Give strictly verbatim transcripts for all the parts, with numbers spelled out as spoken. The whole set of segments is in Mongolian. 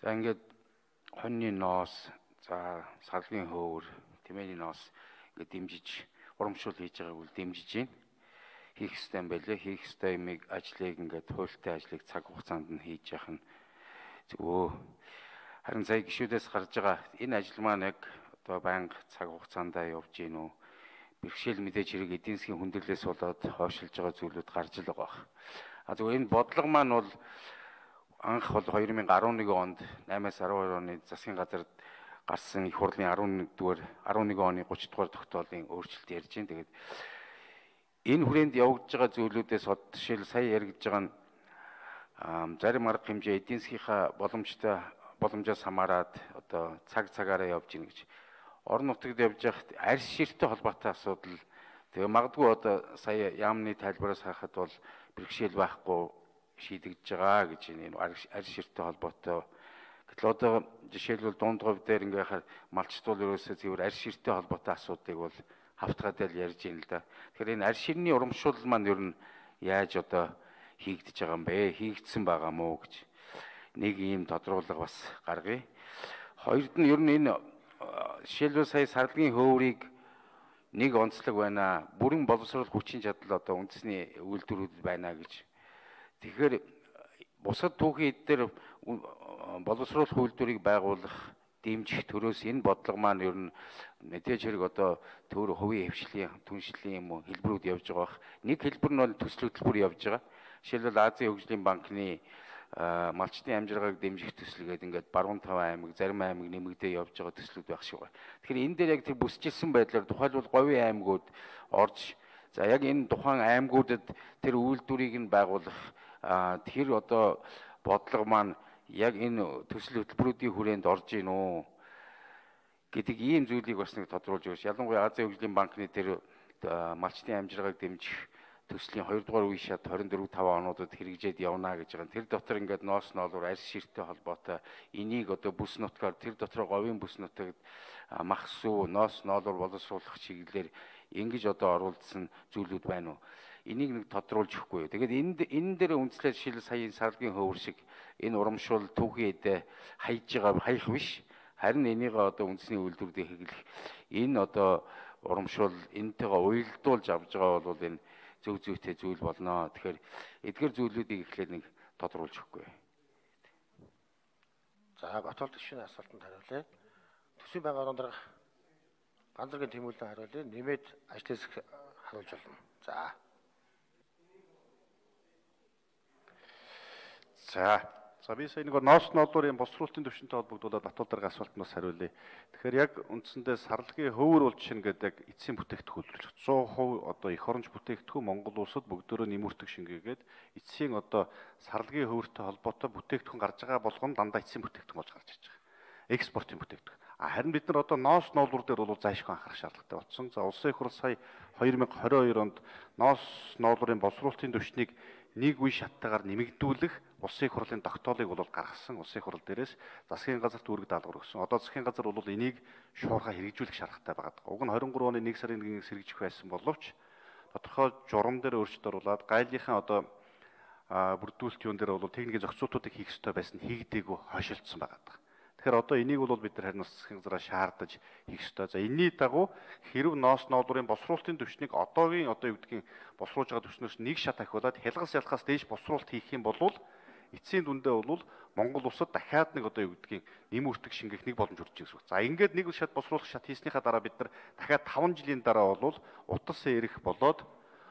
За ингээд хоньны ноос, за сарлагын хөвөр, тэмээний ноос ингээд дэмжиж урамшуул хийж байгааг үл дэмжиж байна. Хийх ёстой юм байлээ. Хийх ёстой юмыг ажлыг ингээд хуультай ажлыг цаг хугацаанд нь хийж явах нь зөв. Харин сая гишүүдээс гарч байгаа энэ ажил маань яг одоо байнга цаг хугацаанд явж гин үү? Бэрхшээл мэдээж хэрэг эдийн засгийн хүндрэлээс болоод хойшилж байгаа зүйлүүд гарч л байгаа. А зөв энэ бодлого маань бол анх бол two thousand eleven онд eight-аас twelve оны засгийн газарт гарсан их хурлын eleven-р eleven оны thirty дугаар тогтоолын өөрчлөлт ярьж байна. Тэгээд энэ хүрээнд явагдаж байгаа зүйлүүдээс жишээл сая яригдж байгаа нь зарим арга хэмжээ эдийн засгийнхаа боломжтой боломжоос хамаарат одоо цаг цагаараа явж гин гэж. Орон нутагт явж байхад арьс ширттэй холбоотой асуудал тэгээ магадгүй одоо сая яамны тайлбараас харахад бол бэрхшээл байхгүй шийдэгдэж байгаа гэж энэ арьс ширттэй холбоотой. Гэтэл одоо жишээлбэл дунд говь дээр ингээ хахаар малчтуул ерөөсөө зөвхөн арьс ширттэй холбоотой асуудыг бол хавтгаад л ярьж байна л да. Тэгэхээр энэ арьс ширний урамшуул маань ер нь яаж одоо хийгдэж байгаа юм бэ? Хийгдсэн байгаа мó гэж нэг ийм тодруулга бас гаргая. Хоёрд нь ер нь энэ жишээлбэл сая сарлагын хөврийг нэг онцлог байна. Бүрэн боловсрол хүчин чадал одоо үндэсний үйлдвэрүүд байна гэж. Тэгэхээр бусад түүхийн эдгээр боловсруулах үйлдвэрийг байгуулах дэмжих төрөөс энэ бодлого маань ер нь мэдээж хэрэг одоо төр хувийн хвшлийн түншлэлийн юм уу хэлбэрүүд явж байгаа бах. Нэг хэлбэр нь бол төсөл хөтөлбөр явж байгаа. Жишээлбэл Азийн хөгжлийн банкны малчтын амжиргааг дэмжих төсөл гэдэг ингээд баруун таван аймаг, зарим аймаг нэмэгдээ явж байгаа төслүүд байх шиг байна. Тэгэхээр энэ дээр яг тэр бүсчилсэн байдлаар тухайлбал говийн аймагуд орж за яг энэ тухайн аймагуудад тэр үйлдвэрийг нь байгуулах тэр одоо бодлого маань яг энэ төсөл хөтөлбөрүүдийн хүрээнд орж ийн үү гэдэг ийм зүйлийг бас нэг тодруулж өгч. Ялангуяа Азийн хөгжлийн банкны тэр малчтын амжиргааг дэмжих төслийн two дугаар үе шат twenty-four five онуудад хэрэгжээд явна гэж байгаа. Тэр дотор ингээд ноос ноолоор арьс ширттэй холбоотой энийг одоо бүс нутгаар тэр дотор говийн бүс нутагт мах сүү ноос ноолоор боловсруулах чиглэлээр ингэж одоо оруулсан зүйлүүд байна уу? Энийг нэг тодруулж өгөхгүй. Тэгээд энд энэ дээр үндэслэл жишээл сая сарлагын хөвөр шиг энэ урамшуул түүхийн эдэ хайж байгаа хаях биш. Харин энийг одоо үндэсний үйлдвэрүүдийг хэрэглэх энэ одоо урамшуул энтэйгээ уялдуулж авж байгаа бол энэ зөв зүйтэй зүйл болно. Тэгэхээр эдгээр зүйлүүдийг эхлээд нэг тодруулж өгөхгүй. За Батболд гишүүний асуултанд хариулъя. Төсвийн байнгын орон дарга ганцхан тэмүүлэн хариулъя. Нэмээд ажлаас харуулж болно. За. За. За би сая нэг ноос ноолуурын босруулалтын төвшөнтэй холбогдуулаад Батболд дарга асуултнаас хариулъя. Тэгэхээр яг үндсэндээ сарлагын хөвөр бол жишээ нь гэдэг яг эцсийн бүтээгдэхүүн үйлдвэрлэж one hundred percent одоо эх оронч бүтээгдэхүүн Монгол улсад бүгдөө нэмүртэг шингээгээд эцсийн одоо сарлагын хөвөртэй холбоотой бүтээгдэхүүн гарч байгаа болгоно дандаа эцсийн бүтээгдэхүүн болж гарч ирж байгаа. Экспортын бүтээгдэхүүн. А харин бид нар одоо ноос ноолуур дээр бол зайлшгүй анхаарах шаардлагатай болсон. За улсын их хурл сая twenty twenty-two онд ноос ноолуурын босруулалтын түвшнийг нэг үе шаттайгаар нэмэгдүүлэх улсын их хурлын тогтоолыг бол гаргасан. Улсын их хурл дээрээс засгийн газарт үүрэг даалгавар өгсөн. Одоо засгийн газар бол энийг шуурхай хэрэгжүүлэх шаардлагатай байгаа. Уг нь twenty-three оны one сарын one-ээс хэрэгжих байсан боловч тодорхой журам дээр өөрчлөлт оруулаад гайлынхаа одоо бүрдүүлэлт юун дээр бол техникийн зохицуултуудыг хийх ёстой байсан хийгдээгүй хойшилдсан байгаа. Тэгэхээр одоо энийг бол бид нар харин засгийн газараа шаардаж хийх ёстой. За энэний дагуу хэрв ноос ноолуурын босруулалтын түвшнийг одоогийн одоо юу гэдгийг босруулж байгаа түвшнөөс нэг шат ахиулаад хялгас ялхаас дээш босруулалт хийх юм бол эцсийн дүндээ бол Монгол улсад дахиад нэг одоо юу гэдгийг нэмүртэг шингээх нэг боломж үржиж байгаа. За ингээд нэг шат босруулах шат хийснийхаа дараа бид нар дахиад five жилийн дараа бол утас эрэх болоод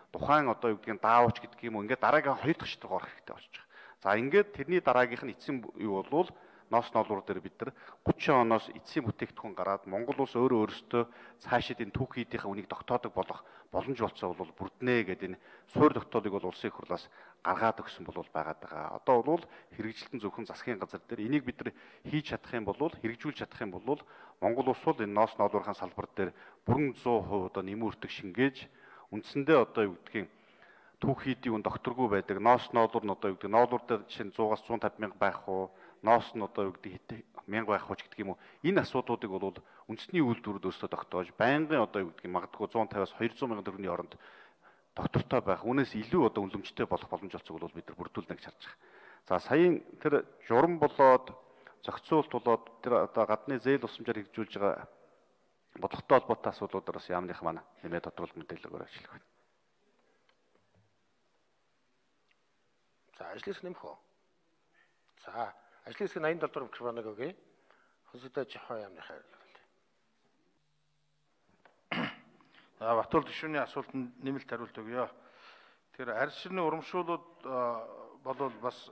тухайн одоо юу гэдгийг даавч гэдэг юм уу ингээд дараагийн хоёр дахь шат руу орох хэрэгтэй болж байгаа. За ингээд тэрний дараагийнх нь эцсийн юу бол ноос ноолуур дээр бид нар thirty оноос эцсийн бүтээгдэхүүн гараад Монгол улс өөрөө өөрсдөө цаашид энэ түүх хийдийнхээ үнийг тогтоодог болох боломж болцоо бол бүрднэ гэдэг энэ суурь тогтоолыг бол улсын их хурлаас гаргаад өгсөн бол байгаад байгаа. Одоо бол хэрэгжилтэн зөвхөн засгийн газар дээр энийг бид нар хийж чадах юм бол хэрэгжүүлж чадах юм бол Монгол улс бол энэ ноос ноолуурын салбар дээр бүрэн one hundred percent одоо нэмүртэг шингээж үндсэндээ одоо юу гэдгийг түүх хийдийн үн докторгүй байдаг. Ноос ноолуур нь одоо юу гэдэг ноолуур дээр жишээ нь one hundred-аас one fifty мянга байх уу ноос нь одоо юу гэдэг мянга байх уу гэдэг юм уу энэ асуудлуудыг бол үндэсний үйлдвэрүүд өөрсдөө тогтоож байнгын одоо юу гэдэг магадгүй one fifty-аас two hundred мянган төгрөгийн оронд доктортой байх үнээс илүү одоо үнэлэмжтэй болох боломж олцог бол бид нар бүрдүүлнэ гэж харж байгаа. За саяын тэр журам болоод зохицуулт болоод тэр одоо гадны зээл усамжаар хэрэгжүүлж байгаа бодлоготой холбоотой асуудлуудаар бас яамных маань нэмээд тодруулах мэдээлэлээр ажиллах байна. За ажлын хэсэг нэмэх үү? За ажлын хэсэг восемьдесят доллар микрофоныг өгье. Хөсөдөө жохоо яамныхаа. За Батбол гишүүний асуултанд нэмэлт хариулт өгье. Тэгэхээр арьс ширний урамшуулууд болвол бас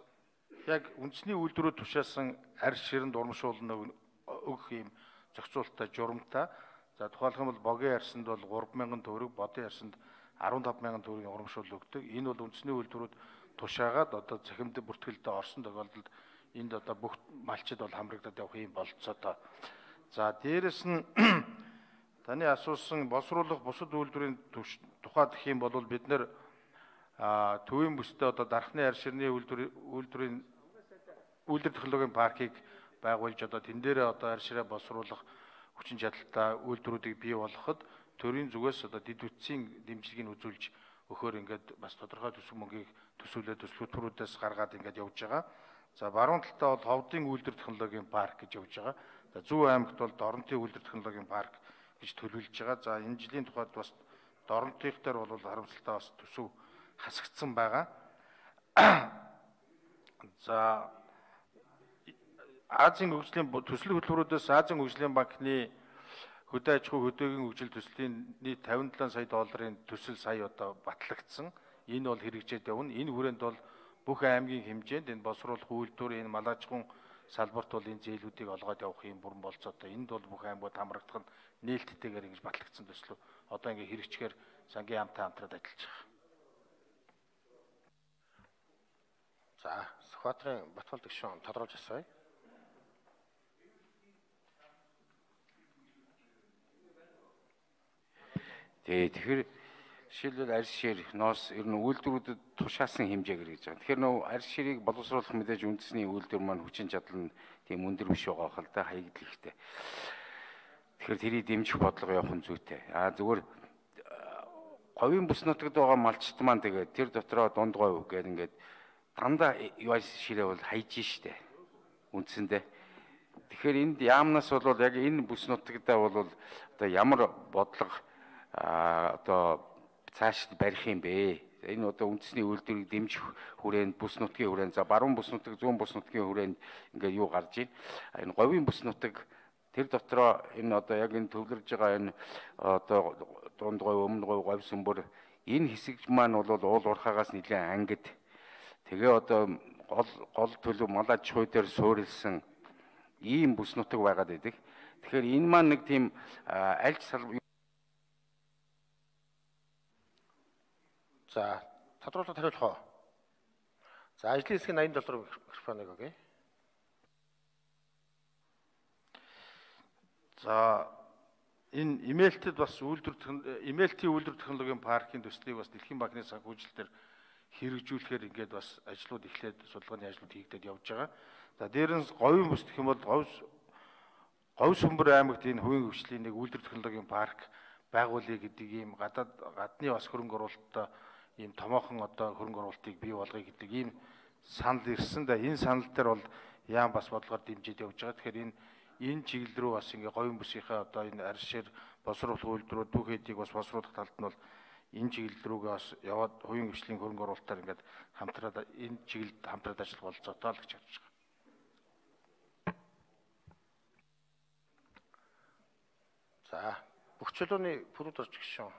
яг үндэсний үйлдвэрүүд тушаасан арьс ширэнд урамшуулна өгөх юм зохицуулттай журамтай. За тухайлх юм бол богийн арьсанд бол гурван мянган төгрөг, бодын арьсанд арван таван мянган төгрөгийн урамшуул өгдөг. Энэ бол үндэсний үйлдвэрүүд тушаагаад одоо цахимд бүртгэлдээ орсон тохиолдолд энд одоо бүх малчид бол хамрагдаад явах юм болцоотой. За дээрэс нь таны асуусан боловсруулах бусад үйлдвэрийн тухайд гэх юм бол бид нэр төвийн бүстэй одоо дархны арьс ширний үйлдвэр үйлдвэрийн үйлдвэр технологийн паркийг байгуулж одоо тэн дээрээ одоо арьс ширээ боловсруулах хүчин чадалтай үйлдвэрүүдийг бий болгоход төрийн зүгээс одоо дэд бүтцийн дэмжлэгийг үзүүлж өгөхөөр ингээд бас тодорхой төсөв мөнгийг төсөөлөд төслүүдээс гаргаад ингээд явж байгаа. За баруун талдаа бол ховдын үйлдвэр технологийн парк гэж явж байгаа. За Зөв аймагт бол Доронтын үйлдвэр технологийн парк гэж төлөвлөж байгаа. За энэ жилийн тухайд бас Доронтынх дээр бол харамсалтай бас төсөв хасагдсан байгаа. За Азийн хөгжлийн төслийн хөтөлбөрүүдээс Азийн хөгжлийн банкны хөдөө аж ахуй хөдөөгийн хөгжил төслийн нийт тавин долоо сая долларын төсөл сая одоо батлагдсан. Энэ бол хэрэгжээд явна. Энэ хүрээнд бол бүх аймгийн хэмжээнд энэ боловсруулах үйлдвэр, энэ мал аж ахуйн салбарт бол энэ зээлүүдийг олгоод явах юм бүрэн болцоотой. Энд бол бүх аймагуд хамрагдах нь нээлттэйгээр ингэж батлагдсан төслөө одоо ингэ хэрэгжихээр сангийн хамтаа хамтраад ажиллаж байгаа. За Сүхбаатарын Батбол гишүүн тодорхойлж асууя. Тэгэхээр жишээлбэл арьс шир, ноос ер нь үйлдвэрүүдэд тушаасан хэмжээгээр гэж байгаа. Тэгэхээр нөө арьс ширийг боловсруулах мэдээж үндэсний үйлдвэр маань хүчин чадал нь тийм өндөр биш байгаа хэл та хаягдл ихтэй. Тэгэхээр тэрийг дэмжих бодлого явах нь зүйтэй. Аа зүгээр говийн бүс нутагт байгаа малчт маань тэгээд тэр дотроо дунд говь гэдэг ингээд дандаа арьс ширээ бол хайж штэ үндсэндээ. Тэгэхээр энд яамнаас бол яг энэ бүс нутагтаа бол одоо ямар бодлого а одоо цааш барих юм бэ? Энэ одоо үндэсний үйлдвэрийг дэмжих хүрээнд бүс нутгийн хүрээнд за баруун бүс нутаг, зүүн бүс нутгийн хүрээнд ингээд юу гарч ийн. Энэ говийн бүс нутаг тэр дотроо энэ одоо яг энэ төвлөрж байгаа энэ одоо дунд говь, өмнө говь, говь сүмбэр энэ хэсэг маань бол уул уурхаагаас нэлээд ангид. Тэгээ одоо гол гол төлөв мал аж ахуй дээр суурилсан ийм бүс нутаг байгаад байдаг. Тэгэхээр энэ маань нэг тийм аль салбар. За тодруулалт хариулах уу? За ажлын хэсгийн восемьдесят доллар микрофоныг өгье. За энэ имейлтэд бас үйлдвэр имейлтийн үйлдвэр технологийн паркийн төслийг бас Дэлхийн банкны санхүүжилтээр хэрэгжүүлэхээр ингээд бас ажлууд эхлээд судалгааны ажлууд хийгдээд явж байгаа. За дээрээс говийн бүс гэх юм бол говь говь сүмбэр аймагт энэ хувийн хөгжлийн нэг үйлдвэр технологийн парк байгуулъя гэдэг ийм гадаад гадны бас хөрөнгө оруулалттай ийм томоохон одоо хөрөнгө оруулалтыг бий болгоё гэдэг ийм санал ирсэн да энэ санал дээр бол яам бас бодлогоор дэмжиж явж байгаа. Тэгэхээр энэ энэ чиглэл рүү бас ингээ говийн бүсийнхаа одоо энэ арьс шир боловсруулах үйлдвэрүүд бүх хэдийг бас боловсруулах талд нь бол энэ чиглэл рүүгээ бас яваад хувийн хөгжлийн хөрөнгө оруулалтаар ингээд хамтраад энэ чиглэлд хамтраад ажиллах болцоотой л гэж харж байгаа. За бүх чөлөөний пүрэд орж гişүүн